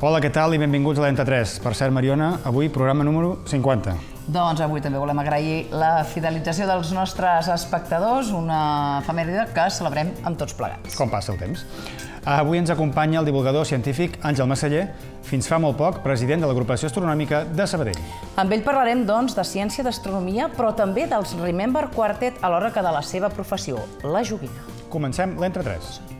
Hola, què tal i benvinguts a l'Entre3. Per cert, Mariona, avui programa número 50. Doncs avui també volem agrair la fidelització dels nostres espectadors, una efemèride que celebrem amb tots plegats. Com passa el temps. Avui ens acompanya el divulgador científic Àngel Massaller, fins fa molt poc president de l'Agrupació Astronòmica de Sabadell. Amb ell parlarem, doncs, de ciència, d'astronomia, però també dels Remember Quartet alhora que de la seva professió, la joguina. Comencem l'Entre3.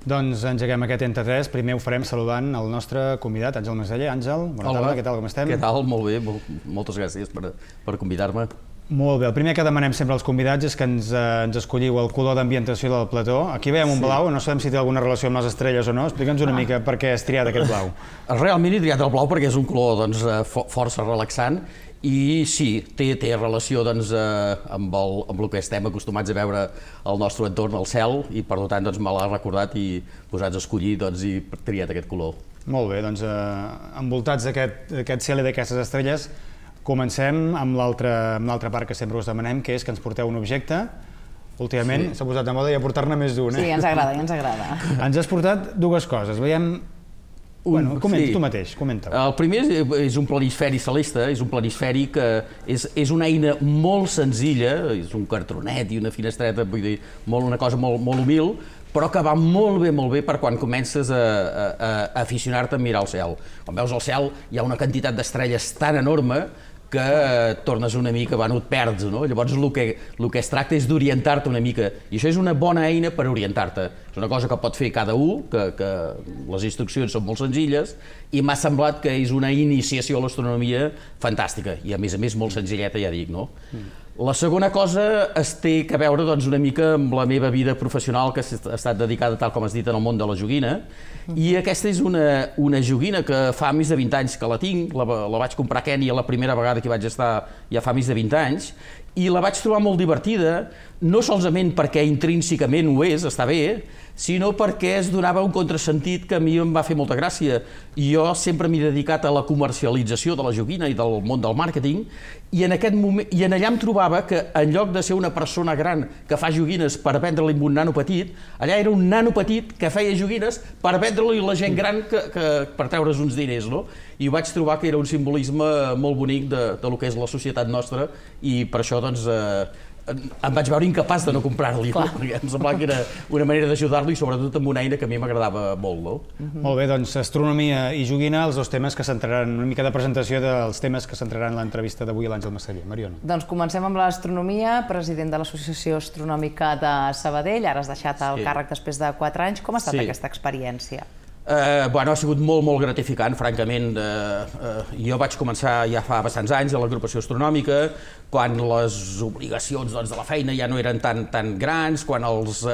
Doncs engeguem aquest Entre3. Primer ho farem saludant el nostre convidat, Àngel Massaller. Àngel, bona tarda, què tal, com estem? Què tal? Molt bé, moltes gràcies per convidar-me. Molt bé, el primer que demanem sempre als convidats és que ens escolliu el color d'ambientació del plató. Aquí veiem un blau, no sabem si té alguna relació amb les estrelles o no. Explica'ns una mica per què has triat aquest blau. Realment he triat el blau perquè és un color força relaxant i sí, té relació amb el que estem acostumats a veure al nostre entorn, al cel, i per tant me l'ha recordat i posats a escollir i triat aquest color. Molt bé, doncs envoltats d'aquest cel i d'aquestes estrelles, comencem amb l'altra part que sempre us demanem, que és que ens porteu un objecte. Últimament s'ha posat de moda ja portar-ne més d'un. Sí, ens agrada, ens agrada. Ens has portat dues coses. Veiem... Bueno, comenta tu mateix, comenta-ho. El primer és un planisferi celeste, és un planisferi que és una eina molt senzilla, és un cartronet i una finestreta, vull dir, una cosa molt humil, però que va molt bé per quan comences a aficionar-te a mirar el cel. Quan veus el cel hi ha una quantitat d'estrelles tan enorme que et tornes una mica, et perds, no? Llavors el que es tracta és d'orientar-te una mica, i això és una bona eina per orientar-te. És una cosa que pot fer cada un, que les instruccions són molt senzilles, i m'ha semblat que és una iniciació a l'astronomia fantàstica, i a més molt senzilleta, ja dic, no? La segona cosa té a veure una mica amb la meva vida professional, que ha estat dedicada, tal com has dit, en el món de la joguina, i aquesta és una joguina que fa més de 20 anys que la tinc, la vaig comprar a Kènia la primera vegada que hi vaig estar ja fa més de 20 anys, i la vaig trobar molt divertida, no solament perquè intrínsecament ho és, està bé, sinó perquè es donava un contrasentit que a mi em va fer molta gràcia. Jo sempre m'he dedicat a la comercialització de la joguina i del món del màrqueting, i en allà em trobava que en lloc de ser una persona gran que fa joguines per vendre-li un nano petit, allà era un nano petit que feia joguines per vendre-li a la gent gran per treure's uns diners, no? I vaig trobar que era un simbolisme molt bonic del que és la societat nostra, i per això em vaig veure incapaç de no comprar-li, perquè em semblava que era una manera d'ajudar-lo, i sobretot amb una eina que a mi m'agradava molt, no? Molt bé, doncs astronomia i joguina, els dos temes que centraran, una mica de presentació dels temes que centraran l'entrevista d'avui a l'Àngel Massaller. Mariona. Doncs comencem amb l'astronomia, president de l'Associació Astronòmica de Sabadell, ara has deixat el càrrec després de 4 anys. Com ha estat aquesta experiència? Ha sigut molt gratificant, francament. Jo vaig començar ja fa bastants anys a l'agrupació astronòmica, quan les obligacions de la feina ja no eren tan grans, quan els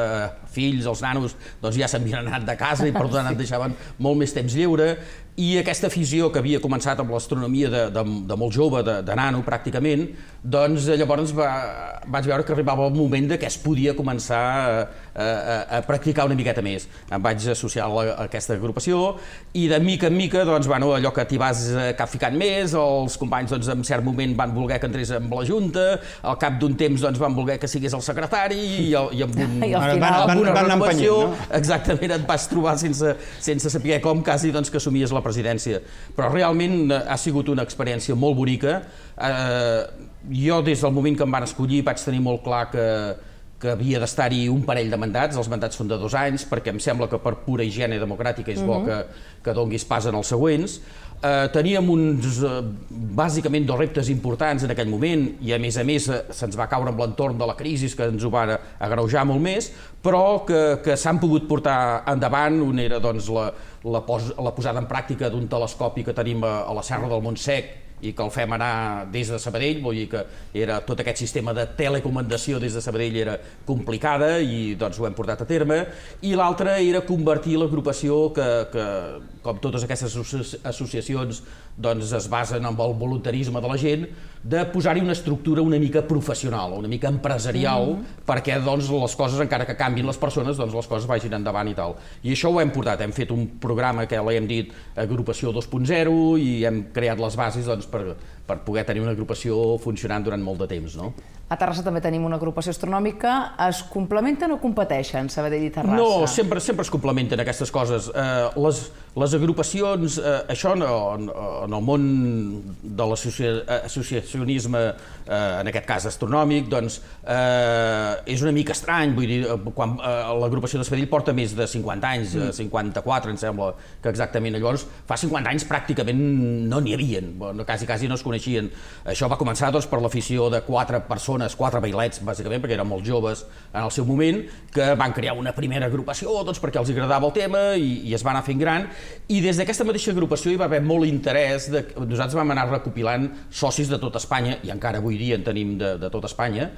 fills, els nanos, ja s'havien anat de casa i per tant et deixaven molt més temps lliure, i aquesta afició que havia començat amb l'astronomia de molt jove, de nano pràcticament, doncs llavors vaig veure que arribava el moment que es podia començar a practicar una miqueta més. Em vaig associar a aquesta agrupació i de mica en mica, allò que t'hi vas ficant més, els companys en cert moment van voler que entrés amb la Junta, al cap d'un temps van voler que sigués el secretari, i amb una renovació exactament et vas trobar sense saber com, quasi que assumies la presidència. Però realment ha sigut una experiència molt bonica. Jo des del moment que em van escollir vaig tenir molt clar que havia d'estar-hi un parell de mandats. Els mandats són de 2 anys, perquè em sembla que per pura higiene democràtica és bo que donguis pas en els següents. Teníem bàsicament 2 reptes importants en aquell moment, i a més se'ns va caure amb l'entorn de la crisi que ens ho va agreujar molt més, però que s'han pogut portar endavant. Un era la posada en pràctica d'un telescopi que tenim a la Serra del Montsec, i que el fem anar des de Sabadell, vull dir que tot aquest sistema de telecomandació des de Sabadell era complicada i doncs ho hem portat a terme, i l'altre era convertir l'agrupació que com totes aquestes associacions doncs es basen en el voluntarisme de la gent, de posar-hi una estructura una mica professional, una mica empresarial, perquè doncs les coses, encara que canvin les persones, doncs les coses vagin endavant i tal. I això ho hem portat, hem fet un programa que l'hem dit Agrupació 2.0 i hem creat les bases doncs, per poder tenir una agrupació funcionant durant molt de temps, no? A Terrassa també tenim una agrupació astronòmica. Es complementen o competeixen, Sabadell i Terrassa? No, sempre es complementen aquestes coses. Les agrupacions, això en el món de l'associacionisme, en aquest cas astronòmic, doncs és una mica estrany, vull dir, quan l'agrupació de Sabadell porta més de 50 anys, 54 em sembla que exactament, llavors fa 50 anys pràcticament no n'hi havien, quasi no es coneixien. Això va començar doncs, per l'afició de 4 persones, 4 bailets, bàsicament, perquè eren molt joves en el seu moment, que van crear una primera agrupació doncs, perquè els agradava el tema i es va anar fent gran, i des d'aquesta mateixa agrupació hi va haver molt interès. Nosaltres vam anar recopilant socis de tot Espanya, i encara avui dia en tenim de tot Espanya,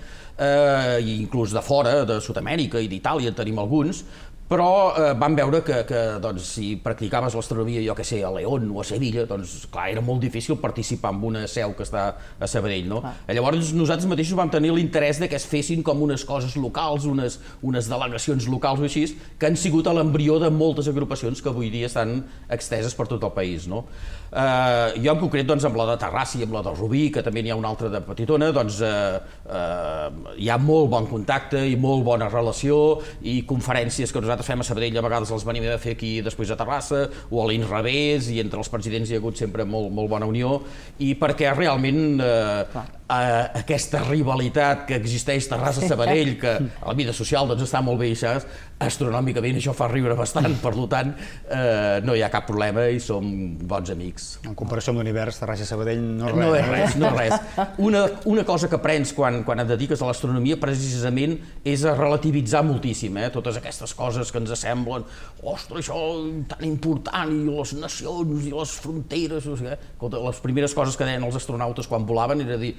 i inclús de fora, de Sud-amèrica i d'Itàlia en tenim alguns, però vam veure que doncs, si practicaves l'astronomia, jo que sé, a León o a Sevilla, doncs clar, era molt difícil participar en una seu que està a Sabadell, no? Llavors nosaltres mateixos vam tenir l'interès de que es fessin com unes coses locals, unes delegacions locals o així, que han sigut a l'embrió de moltes agrupacions que avui dia estan exteses per tot el país, no? Jo en concret, doncs, amb la de Terrassa i amb la de Rubí, que també n'hi ha una altra de petitona, doncs hi ha molt bon contacte i molt bona relació, i conferències que nosaltres fem a Sabadell a vegades les venim a fer aquí després a Terrassa, o a l'inrevés, i entre els presidents hi ha hagut sempre molt bona unió, i perquè realment aquesta rivalitat que existeix Terrassa-Sabadell, que a la vida social doncs, està molt bé, i astronòmicament això fa riure bastant, per tant no hi ha cap problema i som bons amics. En comparació amb l'univers, Terrassa-Sabadell no és res. No és res. Una cosa que aprens quan et dediques a l'astronomia precisament és a relativitzar moltíssim, totes aquestes coses que ens semblen, ostres, això tan important, i les nacions i les fronteres, les primeres coses que deien els astronautes quan volaven era dir,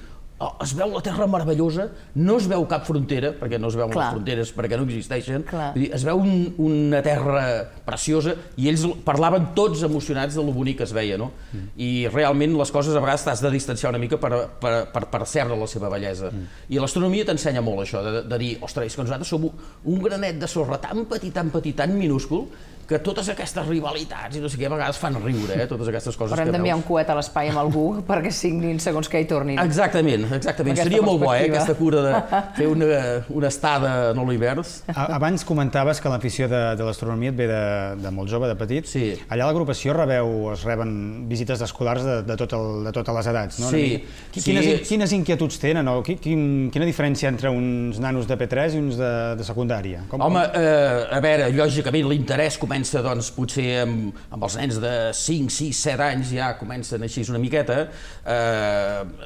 es veu la Terra meravellosa, no es veu cap frontera, perquè no es veuen les fronteres, perquè no existeixen, es veu una Terra preciosa, i ells parlaven tots emocionats de lo bonic que es veia, no? I realment les coses a vegades t'has de distanciar una mica per percebre la seva bellesa. I l'astronomia t'ensenya molt això, de dir, ostres, és que nosaltres som un granet de sorra tan petit, tan minúscul, que totes aquestes rivalitats i no sé què a vegades fan riure, totes aquestes coses que veus. Però hem d'enviar un coet a l'espai amb algú perquè signin segons què hi tornin. Exactament. Seria molt bo, aquesta cura de fer una estada en l'univers. Abans comentaves que l'afició de l'astronomia et ve de molt jove, de petit. Sí. Allà a l'agrupació es reben visites escolars de totes les edats, no? Sí. Quines inquietuds tenen? Quina diferència entre uns nanos de P3 i uns de secundària? Home, a veure, lògicament l'interès comença doncs potser amb els nens de 5, 6, 7 anys, ja comencen així una miqueta.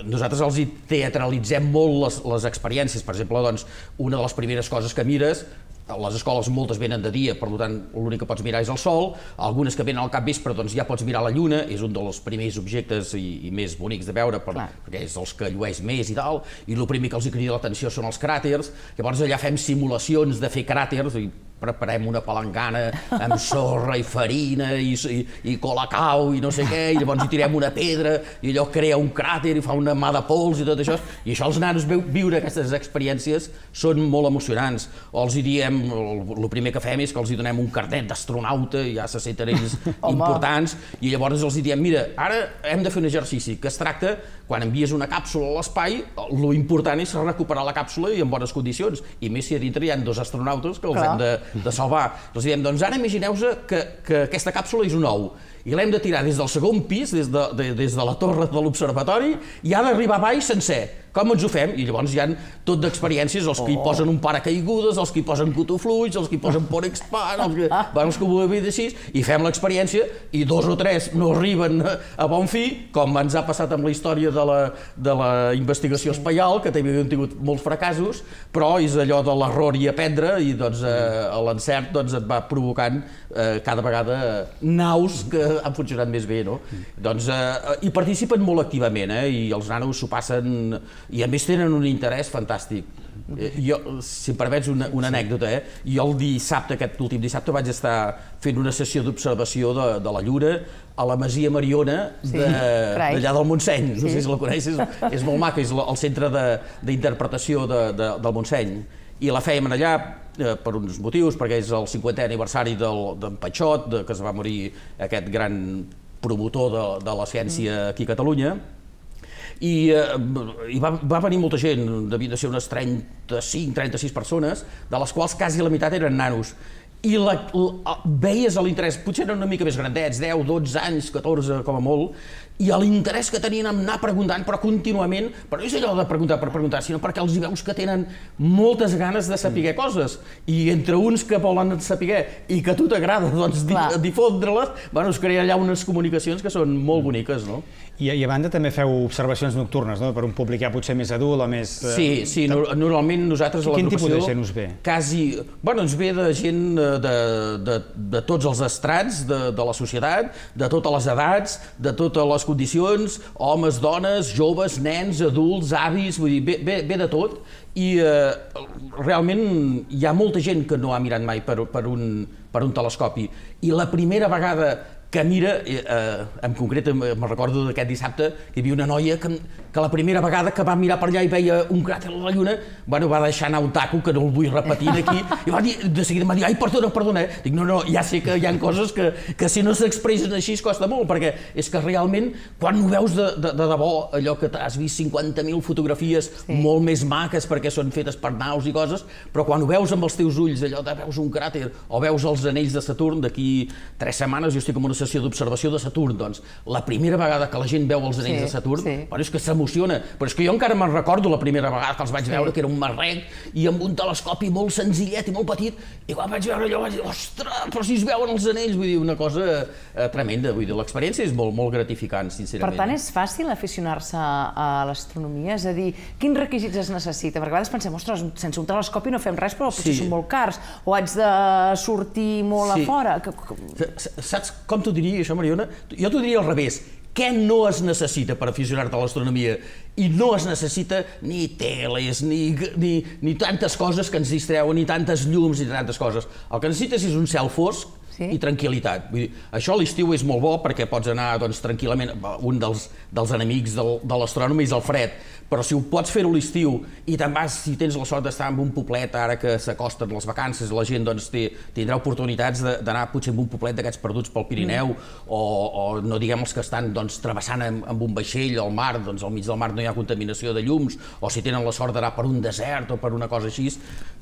Nosaltres els hi teatralitzem molt les experiències. Per exemple, doncs, una de les primeres coses que mires, les escoles moltes venen de dia, per tant l'únic que pots mirar és el sol, algunes que venen al capvespre doncs ja pots mirar la lluna, és un dels primers objectes i més bonics de veure, perquè és els que llueix més i tal, i el primer que els crida l'atenció són els cràters. Llavors allà fem simulacions de fer cràters, i preparem una palangana amb sorra i farina i colacau i no sé què, i llavors hi tirem una pedra i allò crea un cràter i fa una mà de pols i tot això, i això els nanos viure aquestes experiències són molt emocionants. O els hi diem, el primer que fem és que els hi donem un carnet d'astronauta, ja se senten ells importants, i llavors els hi diem, mira, ara hem de fer un exercici que es tracta, quan envies una càpsula a l'espai, lo important és recuperar la càpsula i en bones condicions, i més si a dintre hi ha 2 astronautes que els hem de salvar. Els diem, doncs ara imagineu-vos que aquesta càpsula és un ou, i l'hem de tirar des del segon pis, des de la torre de l'observatori, i ha d'arribar a baix sencer. Com ens ho fem? I llavors hi ha tot d'experiències, els que hi posen un paracaigudes, els que hi posen cotofluix, els que hi posen por expand, els que ho hem dit així, i fem l'experiència, i 2 o 3 no arriben a bon fi, com ens ha passat amb la història de la investigació espaial, que també hem tingut molts fracassos, però és allò de l'error i aprendre, i l'encert et va provocant cada vegada naus que han funcionat més bé, no? Doncs hi participen molt activament, i els nanos s'ho passen, i a més tenen un interès fantàstic. Jo, si em permets una anècdota, jo el dissabte, aquest últim dissabte, vaig estar fent una sessió d'observació de la Lluna a la Masia Mariona d'allà del Montseny. No sé si la coneixes, és molt maca, és el centre d'interpretació del Montseny. I la fèiem allà per uns motius, perquè és el 50è aniversari d'en Patxot, que es va morir aquest gran promotor de la ciència aquí a Catalunya. I va venir molta gent, devien de ser unes 35-36 persones, de les quals quasi la meitat eren nanos. I veies l'interès, potser eren una mica més grandets, 10, 12 anys, 14 com a molt, i l'interès que tenien en anar preguntant, però contínuament, però no és allò de preguntar per preguntar, sinó perquè els hi veus que tenen moltes ganes de saber coses, i entre uns que volen saber i que a tu t'agrada difondre-les, es creen allà unes comunicacions que són molt boniques, no? I a banda també feu observacions nocturnes, no? Per un públic ja potser més adult o més... Sí, normalment nosaltres a l'agrupació... Quin tipus de gent us ve? Ens ve de gent de tots els estrats de la societat, de totes les edats, de totes les condicions, homes, dones, joves, nens, adults, avis, vull dir, ve de tot, i realment hi ha molta gent que no ha mirat mai per un telescopi, i la primera vegada que mira, en concret me'n recordo d'aquest dissabte, que hi havia una noia que la primera vegada que va mirar per allà i veia un cràter a la Lluna, va deixar anar un taco, que no el vull repetir aquí, i de seguida em va dir, ai, perdona, dic, no, ja sé que hi ha coses que si no s'expressen així es costa molt, perquè és que realment, quan ho veus de debò, allò que t'has vist 50.000 fotografies molt més maques perquè són fetes per naus i coses, però quan ho veus amb els teus ulls, allò de veus un cràter o veus els anells de Saturn, d'aquí 3 setmanes jo estic en una sessió d'observació de Saturn, doncs la primera vegada que la gent veu els anells de Saturn, és que s'emociona, però és que jo encara me'n recordo la primera vegada que els vaig veure, que era un marrec i amb un telescopi molt senzillet i molt petit, i quan vaig veure allò vaig dir, ostres, però si es veuen els anells, vull dir, una cosa tremenda, vull dir, l'experiència és molt gratificant, sincerament. Per tant, és fàcil aficionar-se a l'astronomia? És a dir, quins requisits es necessita? Perquè a vegades pensem, ostres, sense un telescopi no fem res, però potser són molt cars, o haig de sortir molt a fora. Saps com t'ho diria, això, Mariona? Jo t'ho diria al revés. Què no es necessita per aficionar-te a l'astronomia? I no es necessita ni teles, ni tantes coses que ens distreuen, ni tantes llums, ni tantes coses. El que necessites és un cel fosc i tranquil·litat. Vull dir, això a l'estiu és molt bo perquè pots anar tranquil·lament. Un dels enemics de l'astrònom és el fred, però si ho pots fer a l'estiu i te'n vas, si tens la sort d'estar en un poblet, ara que s'acosten les vacances, la gent tindrà oportunitats d'anar potser en un poblet d'aquests perduts pel Pirineu, o no diguem els que estan travessant amb un vaixell al mar, doncs al mig del mar no hi ha contaminació de llums, o si tenen la sort d'anar per un desert o per una cosa així,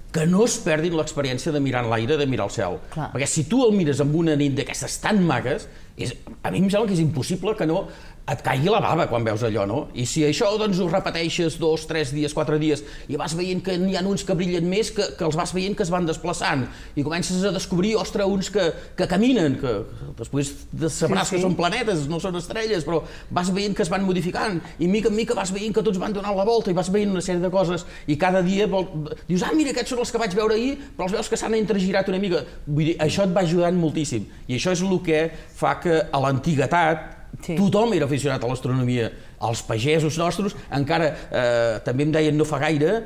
que no es perdin l'experiència de mirar enlaire, de mirar el cel. Perquè si tu el mires amb una nit d'aquestes tan maques, a mi em sembla que és impossible que no et caigui la bava quan veus allò, no? I si això ho repeteixes 2, 3 dies, 4 dies, i vas veient que n'hi ha uns que brillen més, que els vas veient que es van desplaçant, i comences a descobrir, ostres, uns que caminen, que després sabràs que són planetes, no són estrelles, però vas veient que es van modificant, i mica en mica vas veient que tots van donant la volta, i vas veient una sèrie de coses, i cada dia dius, mira, aquests són els que vaig veure ahir, però els veus que s'han entregirat una mica. Vull dir, això et va ajudant moltíssim, i això és el que fa que a l'antiguitat tothom era aficionat a l'astronomia. Els pagesos nostres, encara també em deien no fa gaire,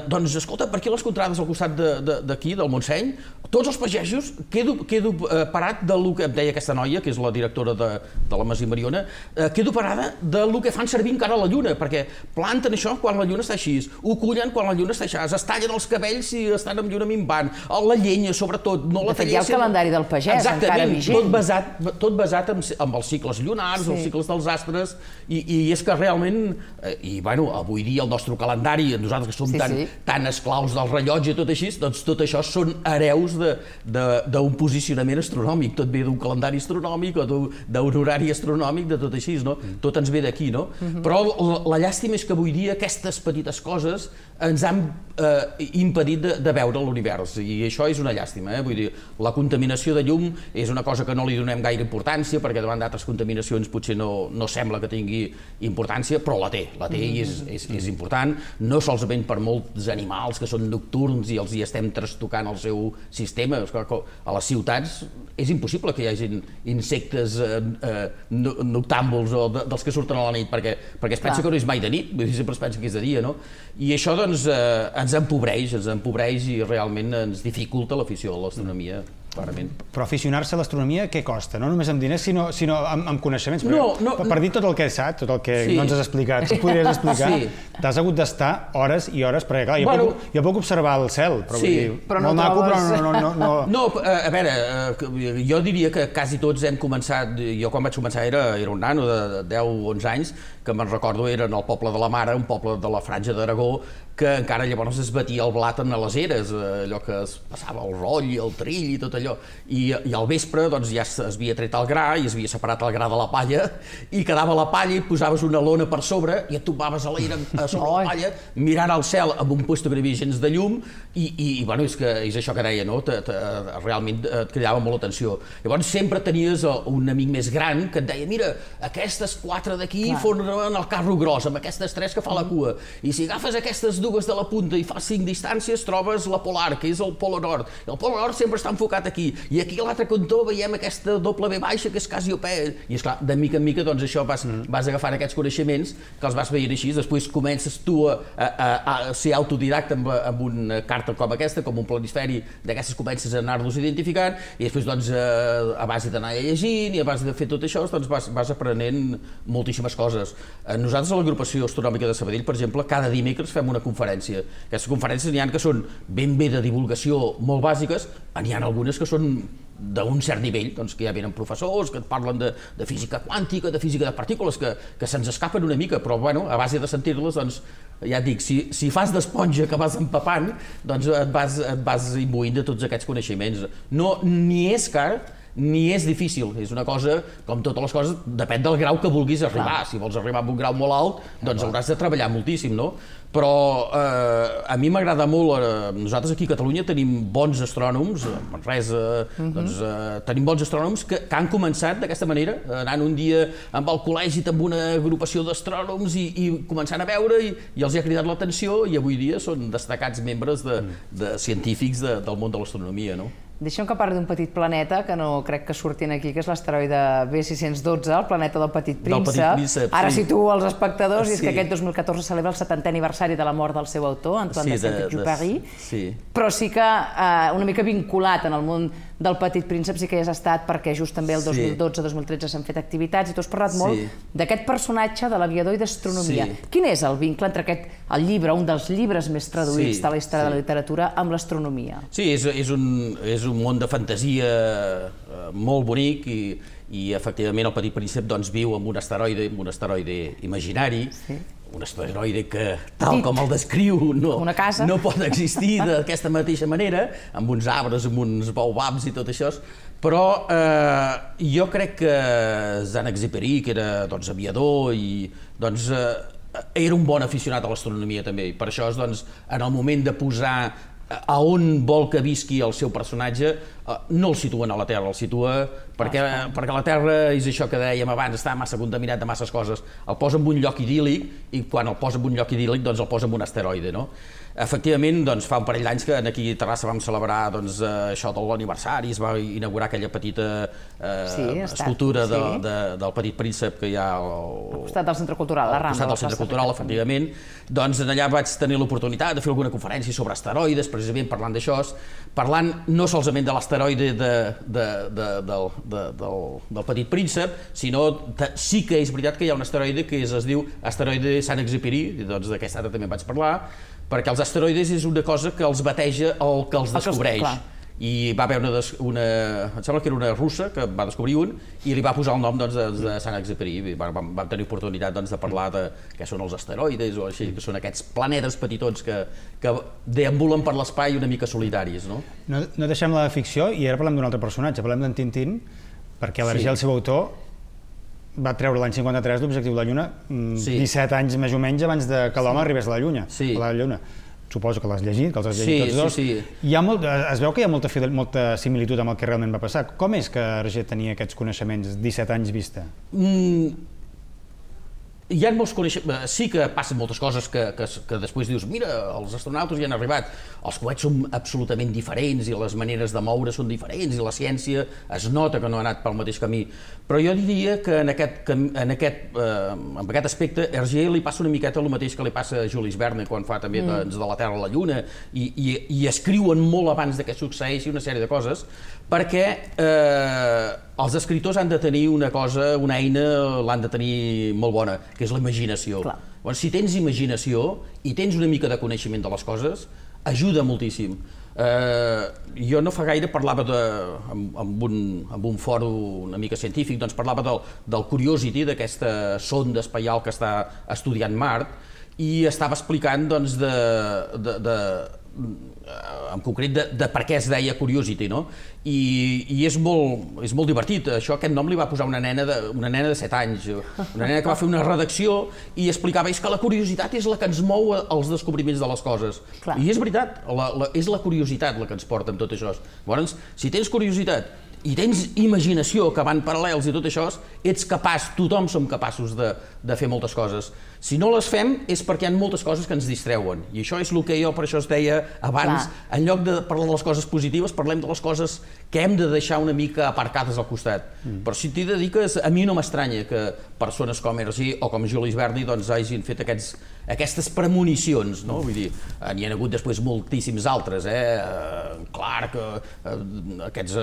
doncs escolta, per aquí les contrades al costat d'aquí, del Montseny, tots els pagesos, quedo parat del que em deia aquesta noia, que és la directora de la Masia Mariona, quedo parada del que fan servir encara a la Lluna, perquè planten això quan la Lluna està així, ho cullen quan la Lluna està així, es tallen els cabells si estan amb lluna minvant, la llenya, sobretot, no la tallessin... De fet, hi ha el calendari del pagès, encara vigent. Tot basat amb els cicles lunars, els cicles dels astres, i és que realment, i bueno, avui dia el nostre calendari, nosaltres que som tan esclaus del rellotge i tot així, doncs tot això són hereus d'un posicionament astronòmic, tot ve d'un calendari astronòmic o d'un horari astronòmic, de tot així, no? Tot ens ve d'aquí, no? Però la llàstima és que avui dia aquestes petites coses ens han impedit de veure l'univers, i això és una llàstima, vull dir, la contaminació de llum és una cosa que no li donem gaire importància, perquè davant d'altres contaminacions potser no sembla que tingui importància, però la té i és important, no solament per molts animals que són nocturns i els hi estem trastocant el seu sistema. A les ciutats és impossible que hi hagi insectes noctàmbuls o dels que surten a la nit, perquè es pensa que no és mai de nit, sempre es pensa que és de dia, no? I això doncs ens empobreix i realment ens dificulta l'afició a l'astronomia. Clarament. Però aficionar-se a l'astronomia què costa? No només amb diners, sinó amb coneixements. Per dir tot el que saps, tot el que no ens has explicat, si podries explicar, t'has hagut d'estar hores i hores, perquè clar, jo puc observar el cel, però molt maco, però no... No, a veure, jo diria que quasi tots hem començat, jo quan vaig començar era un nano de 10 o 11 anys, que me'n recordo era en el poble de la Mare, un poble de la Franja d'Aragó, que encara llavors es batia el blat en les eres, allò que es passava el roll i el trill i tot allò. I al vespre doncs, ja s'havia tret el gra i s'havia separat el gra de la palla i quedava la palla i posaves una lona per sobre i et tombaves a l'aire sobre la palla mirant al cel amb un puesto que no hi havia gens de llum i bueno, és això que deia, no? Realment et cridava molt l'atenció. Llavors sempre tenies un amic més gran que et deia, mira, aquestes 4 d'aquí formen el carro gros, amb aquestes 3 que fa la cua, i si agafes aquestes dues de la punta i fas 5 distàncies trobes la polar, que és el polo nord. El polo nord sempre està enfocat aquí, i aquí a l'altre cantó veiem aquesta doble V baixa que és Cassiopea, i esclar, de mica en mica doncs això vas agafant aquests coneixements que els vas veient així, després comences tu a ser autodidacta amb una carta com aquesta, com un planisferi, d'aquestes comences a anar-los identificant, i després doncs a base d'anar llegint i a base de fer tot això doncs vas aprenent moltíssimes coses. Nosaltres a l'agrupació astronòmica de Sabadell, per exemple, cada dimecres fem una conferència. Aquestes conferències n'hi ha que són ben bé de divulgació molt bàsiques, n'hi ha algunes que són d'un cert nivell, doncs, que ja venen professors que et parlen de física quàntica, de física de partícules, que se'ns escapen una mica, però bueno, a base de sentir-les, doncs, ja et dic, si fas d'esponja que vas empapant, doncs et vas imbuint de tots aquests coneixements. No, ni és car, ni és difícil, és una cosa, com totes les coses, depèn del grau que vulguis arribar. Si vols arribar a un grau molt alt, doncs hauràs de treballar moltíssim, no? Però a mi m'agrada molt, nosaltres aquí a Catalunya tenim bons astrònoms, a Manresa, doncs tenim bons astrònoms que han començat d'aquesta manera, anant un dia amb el col·legi amb una agrupació d'astrònoms i començant a veure i els ha cridat l'atenció i avui dia són destacats membres de científics del món de l'astronomia, no? Deixa'm que parli d'un petit planeta que no crec que surtin aquí, que és l'asteroide B612, el planeta del Petit Príncep. Ara situo els espectadors, i és que aquest 2014 celebra el 70è aniversari de la mort del seu autor, Antoine de Saint-Exupéry, però sí que una mica vinculat en el món del Petit Príncep sí que hi has estat, perquè just també el 2012-2013 s'han fet activitats i tu has parlat molt d'aquest personatge de l'aviador i d'astronomia. Quin és el vincle entre el llibre, un dels llibres més traduïts de la història de la literatura, amb l'astronomia? Sí, és un món de fantasia molt bonic i efectivament el Petit Príncep viu amb un asteroide imaginari, un asteroide que, tal com el descriu, no pot existir d'aquesta mateixa manera, amb uns arbres, amb uns baobabs i tot això, però jo crec que Saint-Exupéry, que era aviador i era un bon aficionat a l'astronomia també, i per això en el moment de posar a on vol que visqui el seu personatge, no el situen a la Terra, el situa perquè la Terra és això que dèiem abans, està massa contaminat de masses coses, el posa en un lloc idíl·lic i quan el posa en un lloc idíl·lic el posa en un asteroide, no? Efectivament, fa un parell d'anys que aquí a Terrassa vam celebrar això de l'aniversari, es va inaugurar aquella petita escultura del Petit Príncep que hi ha al costat del Centre Cultural, la Rambla. Al costat del Centre Cultural, efectivament. Doncs allà vaig tenir l'oportunitat de fer alguna conferència sobre asteroides, precisament parlant d'això, parlant no solament de l'asteroide del Petit Príncep, sinó sí que és veritat que hi ha un asteroide que es diu asteroide Saint-Exupéry, d'aquest ara també vaig parlar, perquè els asteroides és una cosa que els bateja el que els descobreix. I va haver una, em sembla que era una russa que va descobrir un i li va posar el nom de Saint-Exupéry. Vam tenir oportunitat de parlar de què són els asteroides o així, que són aquests planetes petitons que deambulen per l'espai una mica solitaris. No deixem la ficció i ara parlem d'un altre personatge, parlem d'en Tintín, perquè Hergé, el seu autor, va treure l'any 53 l'objectiu de la Lluna, 17 anys més o menys abans que l'home arribés a la Lluna. Suposo que l'has llegit, que els has llegit tots dos. Es veu que hi ha molta similitud amb el que realment va passar. Com és que Hergé tenia aquests coneixements 17 anys vista? hi ha molts coneixements, sí que passen moltes coses que després dius, mira, els astronautes ja han arribat, els coets són absolutament diferents i les maneres de moure són diferents i la ciència es nota que no ha anat pel mateix camí, però jo diria que en aquest aspecte Hergé li passa una miqueta el mateix que li passa a Jules Verne quan fa també de la Terra a la Lluna i escriuen molt abans que succeeixi una sèrie de coses, perquè els escriptors han de tenir una cosa, una eina, l'han de tenir molt bona, que és la imaginació. Bueno, si tens imaginació i tens una mica de coneixement de les coses, ajuda moltíssim. Jo no fa gaire parlava amb un fòrum una mica científic, doncs parlava del Curiosity, d'aquesta sonda espacial que està estudiant Mart, i estava explicant doncs en concret de per què es deia Curiosity, no? I és molt divertit. Aquest nom li va posar una nena de 7 anys, una nena que va fer una redacció i explicava que la curiositat és la que ens mou als descobriments de les coses. I és veritat, és la curiositat la que ens porta amb tot això. Llavors, si tens curiositat i tens imaginació que van paral·lels i tot això, ets capaç, tothom som capaços de fer moltes coses. Si no les fem és perquè hi ha moltes coses que ens distreuen, i això és el que jo per això es deia abans, en lloc de parlar de les coses positives, parlem de les coses que hem de deixar una mica aparcades al costat. Però si t'hi dediques, a mi no m'estranya que persones com Hergé o com Jules Verne hagin fet aquestes premonicions, no? Vull dir, n'hi ha hagut després moltíssims altres, Clarke, aquests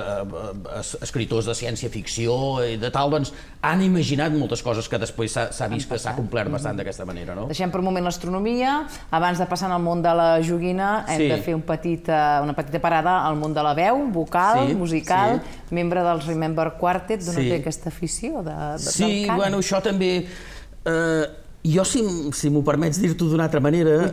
escriptors de ciència-ficció i de tal, doncs han imaginat moltes coses que després s'ha vist que s'ha complert bastant d'aquesta manera, no? Deixem per un moment l'astronomia, abans de passar al món de la joguina hem de fer una petita parada al món de la veu, vocal, musical, membre dels Remember Quartet, d'on té aquesta afició del cant? Sí, bueno, això també... Jo, si m'ho permets dir-t'ho d'una altra manera,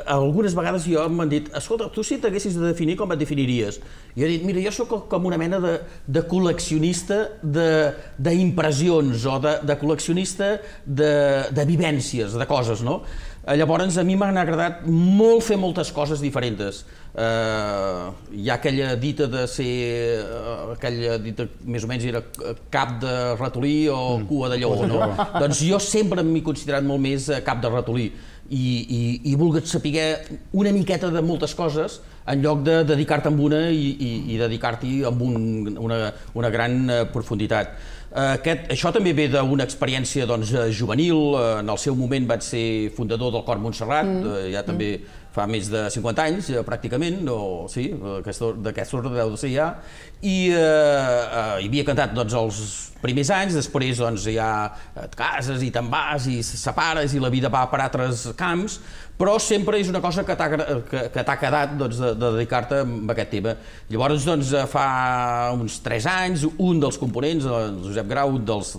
algunes vegades m'han dit, escolta, tu si t'haguessis de definir, com et definiries? Jo he dit, mira, jo sóc com una mena de col·leccionista d'impressions o de col·leccionista de vivències, de coses, no? Llavors, a mi m'han agradat molt fer moltes coses diferents. Hi ha aquella dita de ser... aquella dita, més o menys, era cap de ratolí o cua de lleó, no? Doncs jo sempre m'he considerat molt més cap de ratolí i he volgut saber una miqueta de moltes coses en lloc de dedicar-te a una i dedicar-t'hi amb una gran profunditat. Això també ve d'una experiència juvenil. En el seu moment vaig ser fundador del Cor Montserrat, ja també fa més de 50 anys, pràcticament, sí, d'aquest ordre deu de ser ja, i havia cantat els primers anys, després ja et cases i te'n vas i separes i la vida va per altres camps, però sempre és una cosa que t'ha quedat de dedicar-te a aquest tema. Llavors, fa uns 3 anys, un dels components, el Josep Grau, dels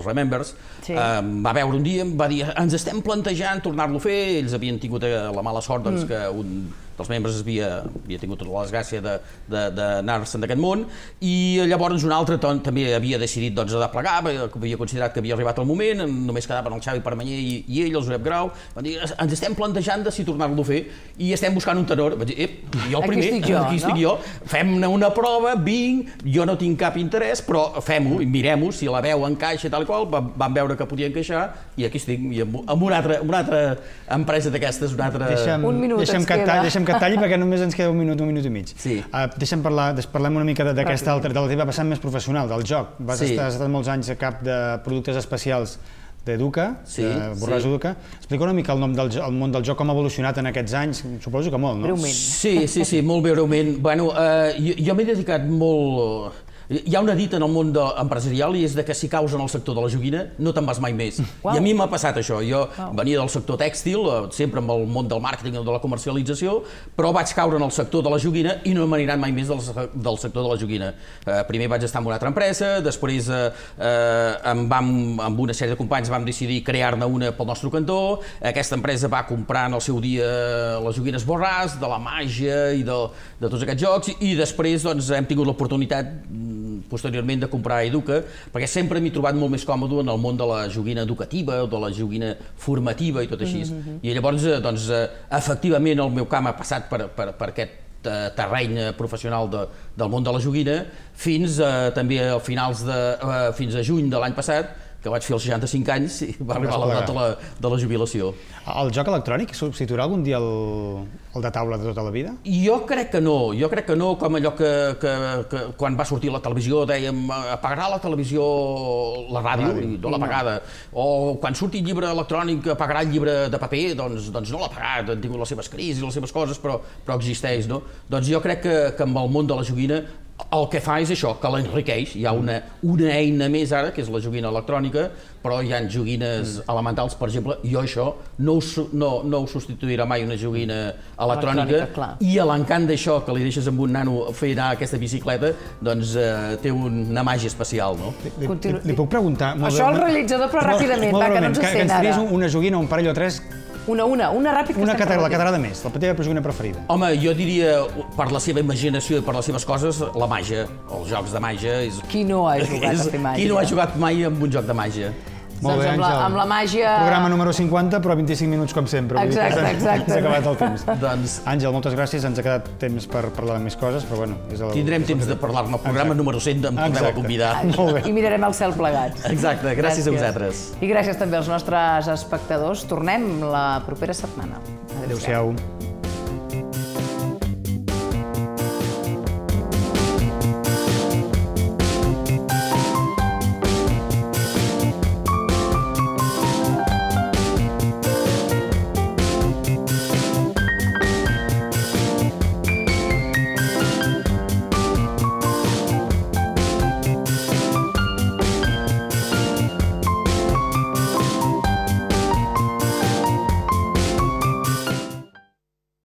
Remembers, va veure un dia, em va dir, ens estem plantejant tornar-lo a fer, ells havien tingut la mala sort que un dels membres havia tingut tota la desgràcia d'anar-se'n d'aquest món, i llavors un altre també havia decidit de plegar, havia considerat que havia arribat el moment, només quedaven el Xavi Permanyer i ell, el Josep Grau, van dir, ens estem plantejant de si tornar-lo a fer i estem buscant un tenor. Vaig dir, jo el primer, aquí estic jo, fem-ne una prova, vinc, jo no tinc cap interès, però fem-ho i mirem-ho, si la veu encaixa i tal i qual, vam veure que podia encaixar i aquí estic, amb una altra empresa d'aquestes, una altra... Un minut ens queda. Deixem que talli perquè només ens queda un minut i mig. Parlem una mica d'aquesta altra, de la teva vessant més professional, del joc. Has estat molts anys a cap de productes especials d'Educa, de Borràs Educa. Explica una mica el món del joc, com ha evolucionat en aquests anys, suposo que molt, no? Breument. Sí, molt breument. Jo m'he dedicat molt... Hi ha una dita en el món empresarial i és que si caus en el sector de la joguina no te'n vas mai més. I a mi m'ha passat això. Jo venia del sector tèxtil, sempre amb el món del màrqueting o de la comercialització, però vaig caure en el sector de la joguina i no m'he anirat mai més del sector de la joguina. Primer vaig estar en una altra empresa, després amb una sèrie de companys vam decidir crear-ne una pel nostre cantó. Aquesta empresa va comprar en el seu dia les joguines Borràs, de la màgia i de tots aquests jocs, i després hem tingut l'oportunitat posteriorment de comprar Educa, perquè sempre m'he trobat molt més còmode en el món de la joguina educativa o de la joguina formativa i tot així. I llavors, efectivament, el meu camp ha passat per aquest terreny professional del món de la joguina fins també a juny de l'any passat, que vaig fer als 65 anys i va arribar l'edat de la jubilació. El joc electrònic substituirà algun dia el de taula de tota la vida? Jo crec que no, com allò que quan va sortir la televisió dèiem apagarà la televisió la ràdio i no l'ha apagada, o quan surti llibre electrònic apagarà el llibre de paper, doncs no l'ha apagat, han tingut les seves crisis, les seves coses, però existeix, no? Doncs jo crec que amb el món de la joguina el que fa és això, que l'enriqueix. Hi ha una eina més ara, que és la joguina electrònica, però hi ha joguines elementals, per exemple, jo això no ho substituirà mai una joguina electrònica, i l'encant d'això, que li deixes amb un nano fer anar aquesta bicicleta, doncs té una màgia especial, no? Li puc preguntar... Això el realitzador, però ràpidament, va, que no ens sent ara. Que ens tries una joguina, un parell o tres... Una ràpid que la catalana més, la teva joguina preferida. Home, jo diria, per la seva imaginació i per les seves coses, la màgia, els jocs de màgia... Qui no ha jugat a fer màgia? Qui no ha jugat mai amb un joc de màgia? Molt bé, Àngel. Amb la màgia... Programa número 50, però 25 minuts com sempre. Exacte. S'ha acabat el temps. Àngel, moltes gràcies. Ens ha quedat temps per parlar de més coses, però bueno... Tindrem temps de parlar-ne. El programa número 100 em torneu a convidar. I mirarem el cel plegats. Exacte, gràcies a vosaltres. I gràcies també als nostres espectadors. Tornem la propera setmana. Adéu-siau.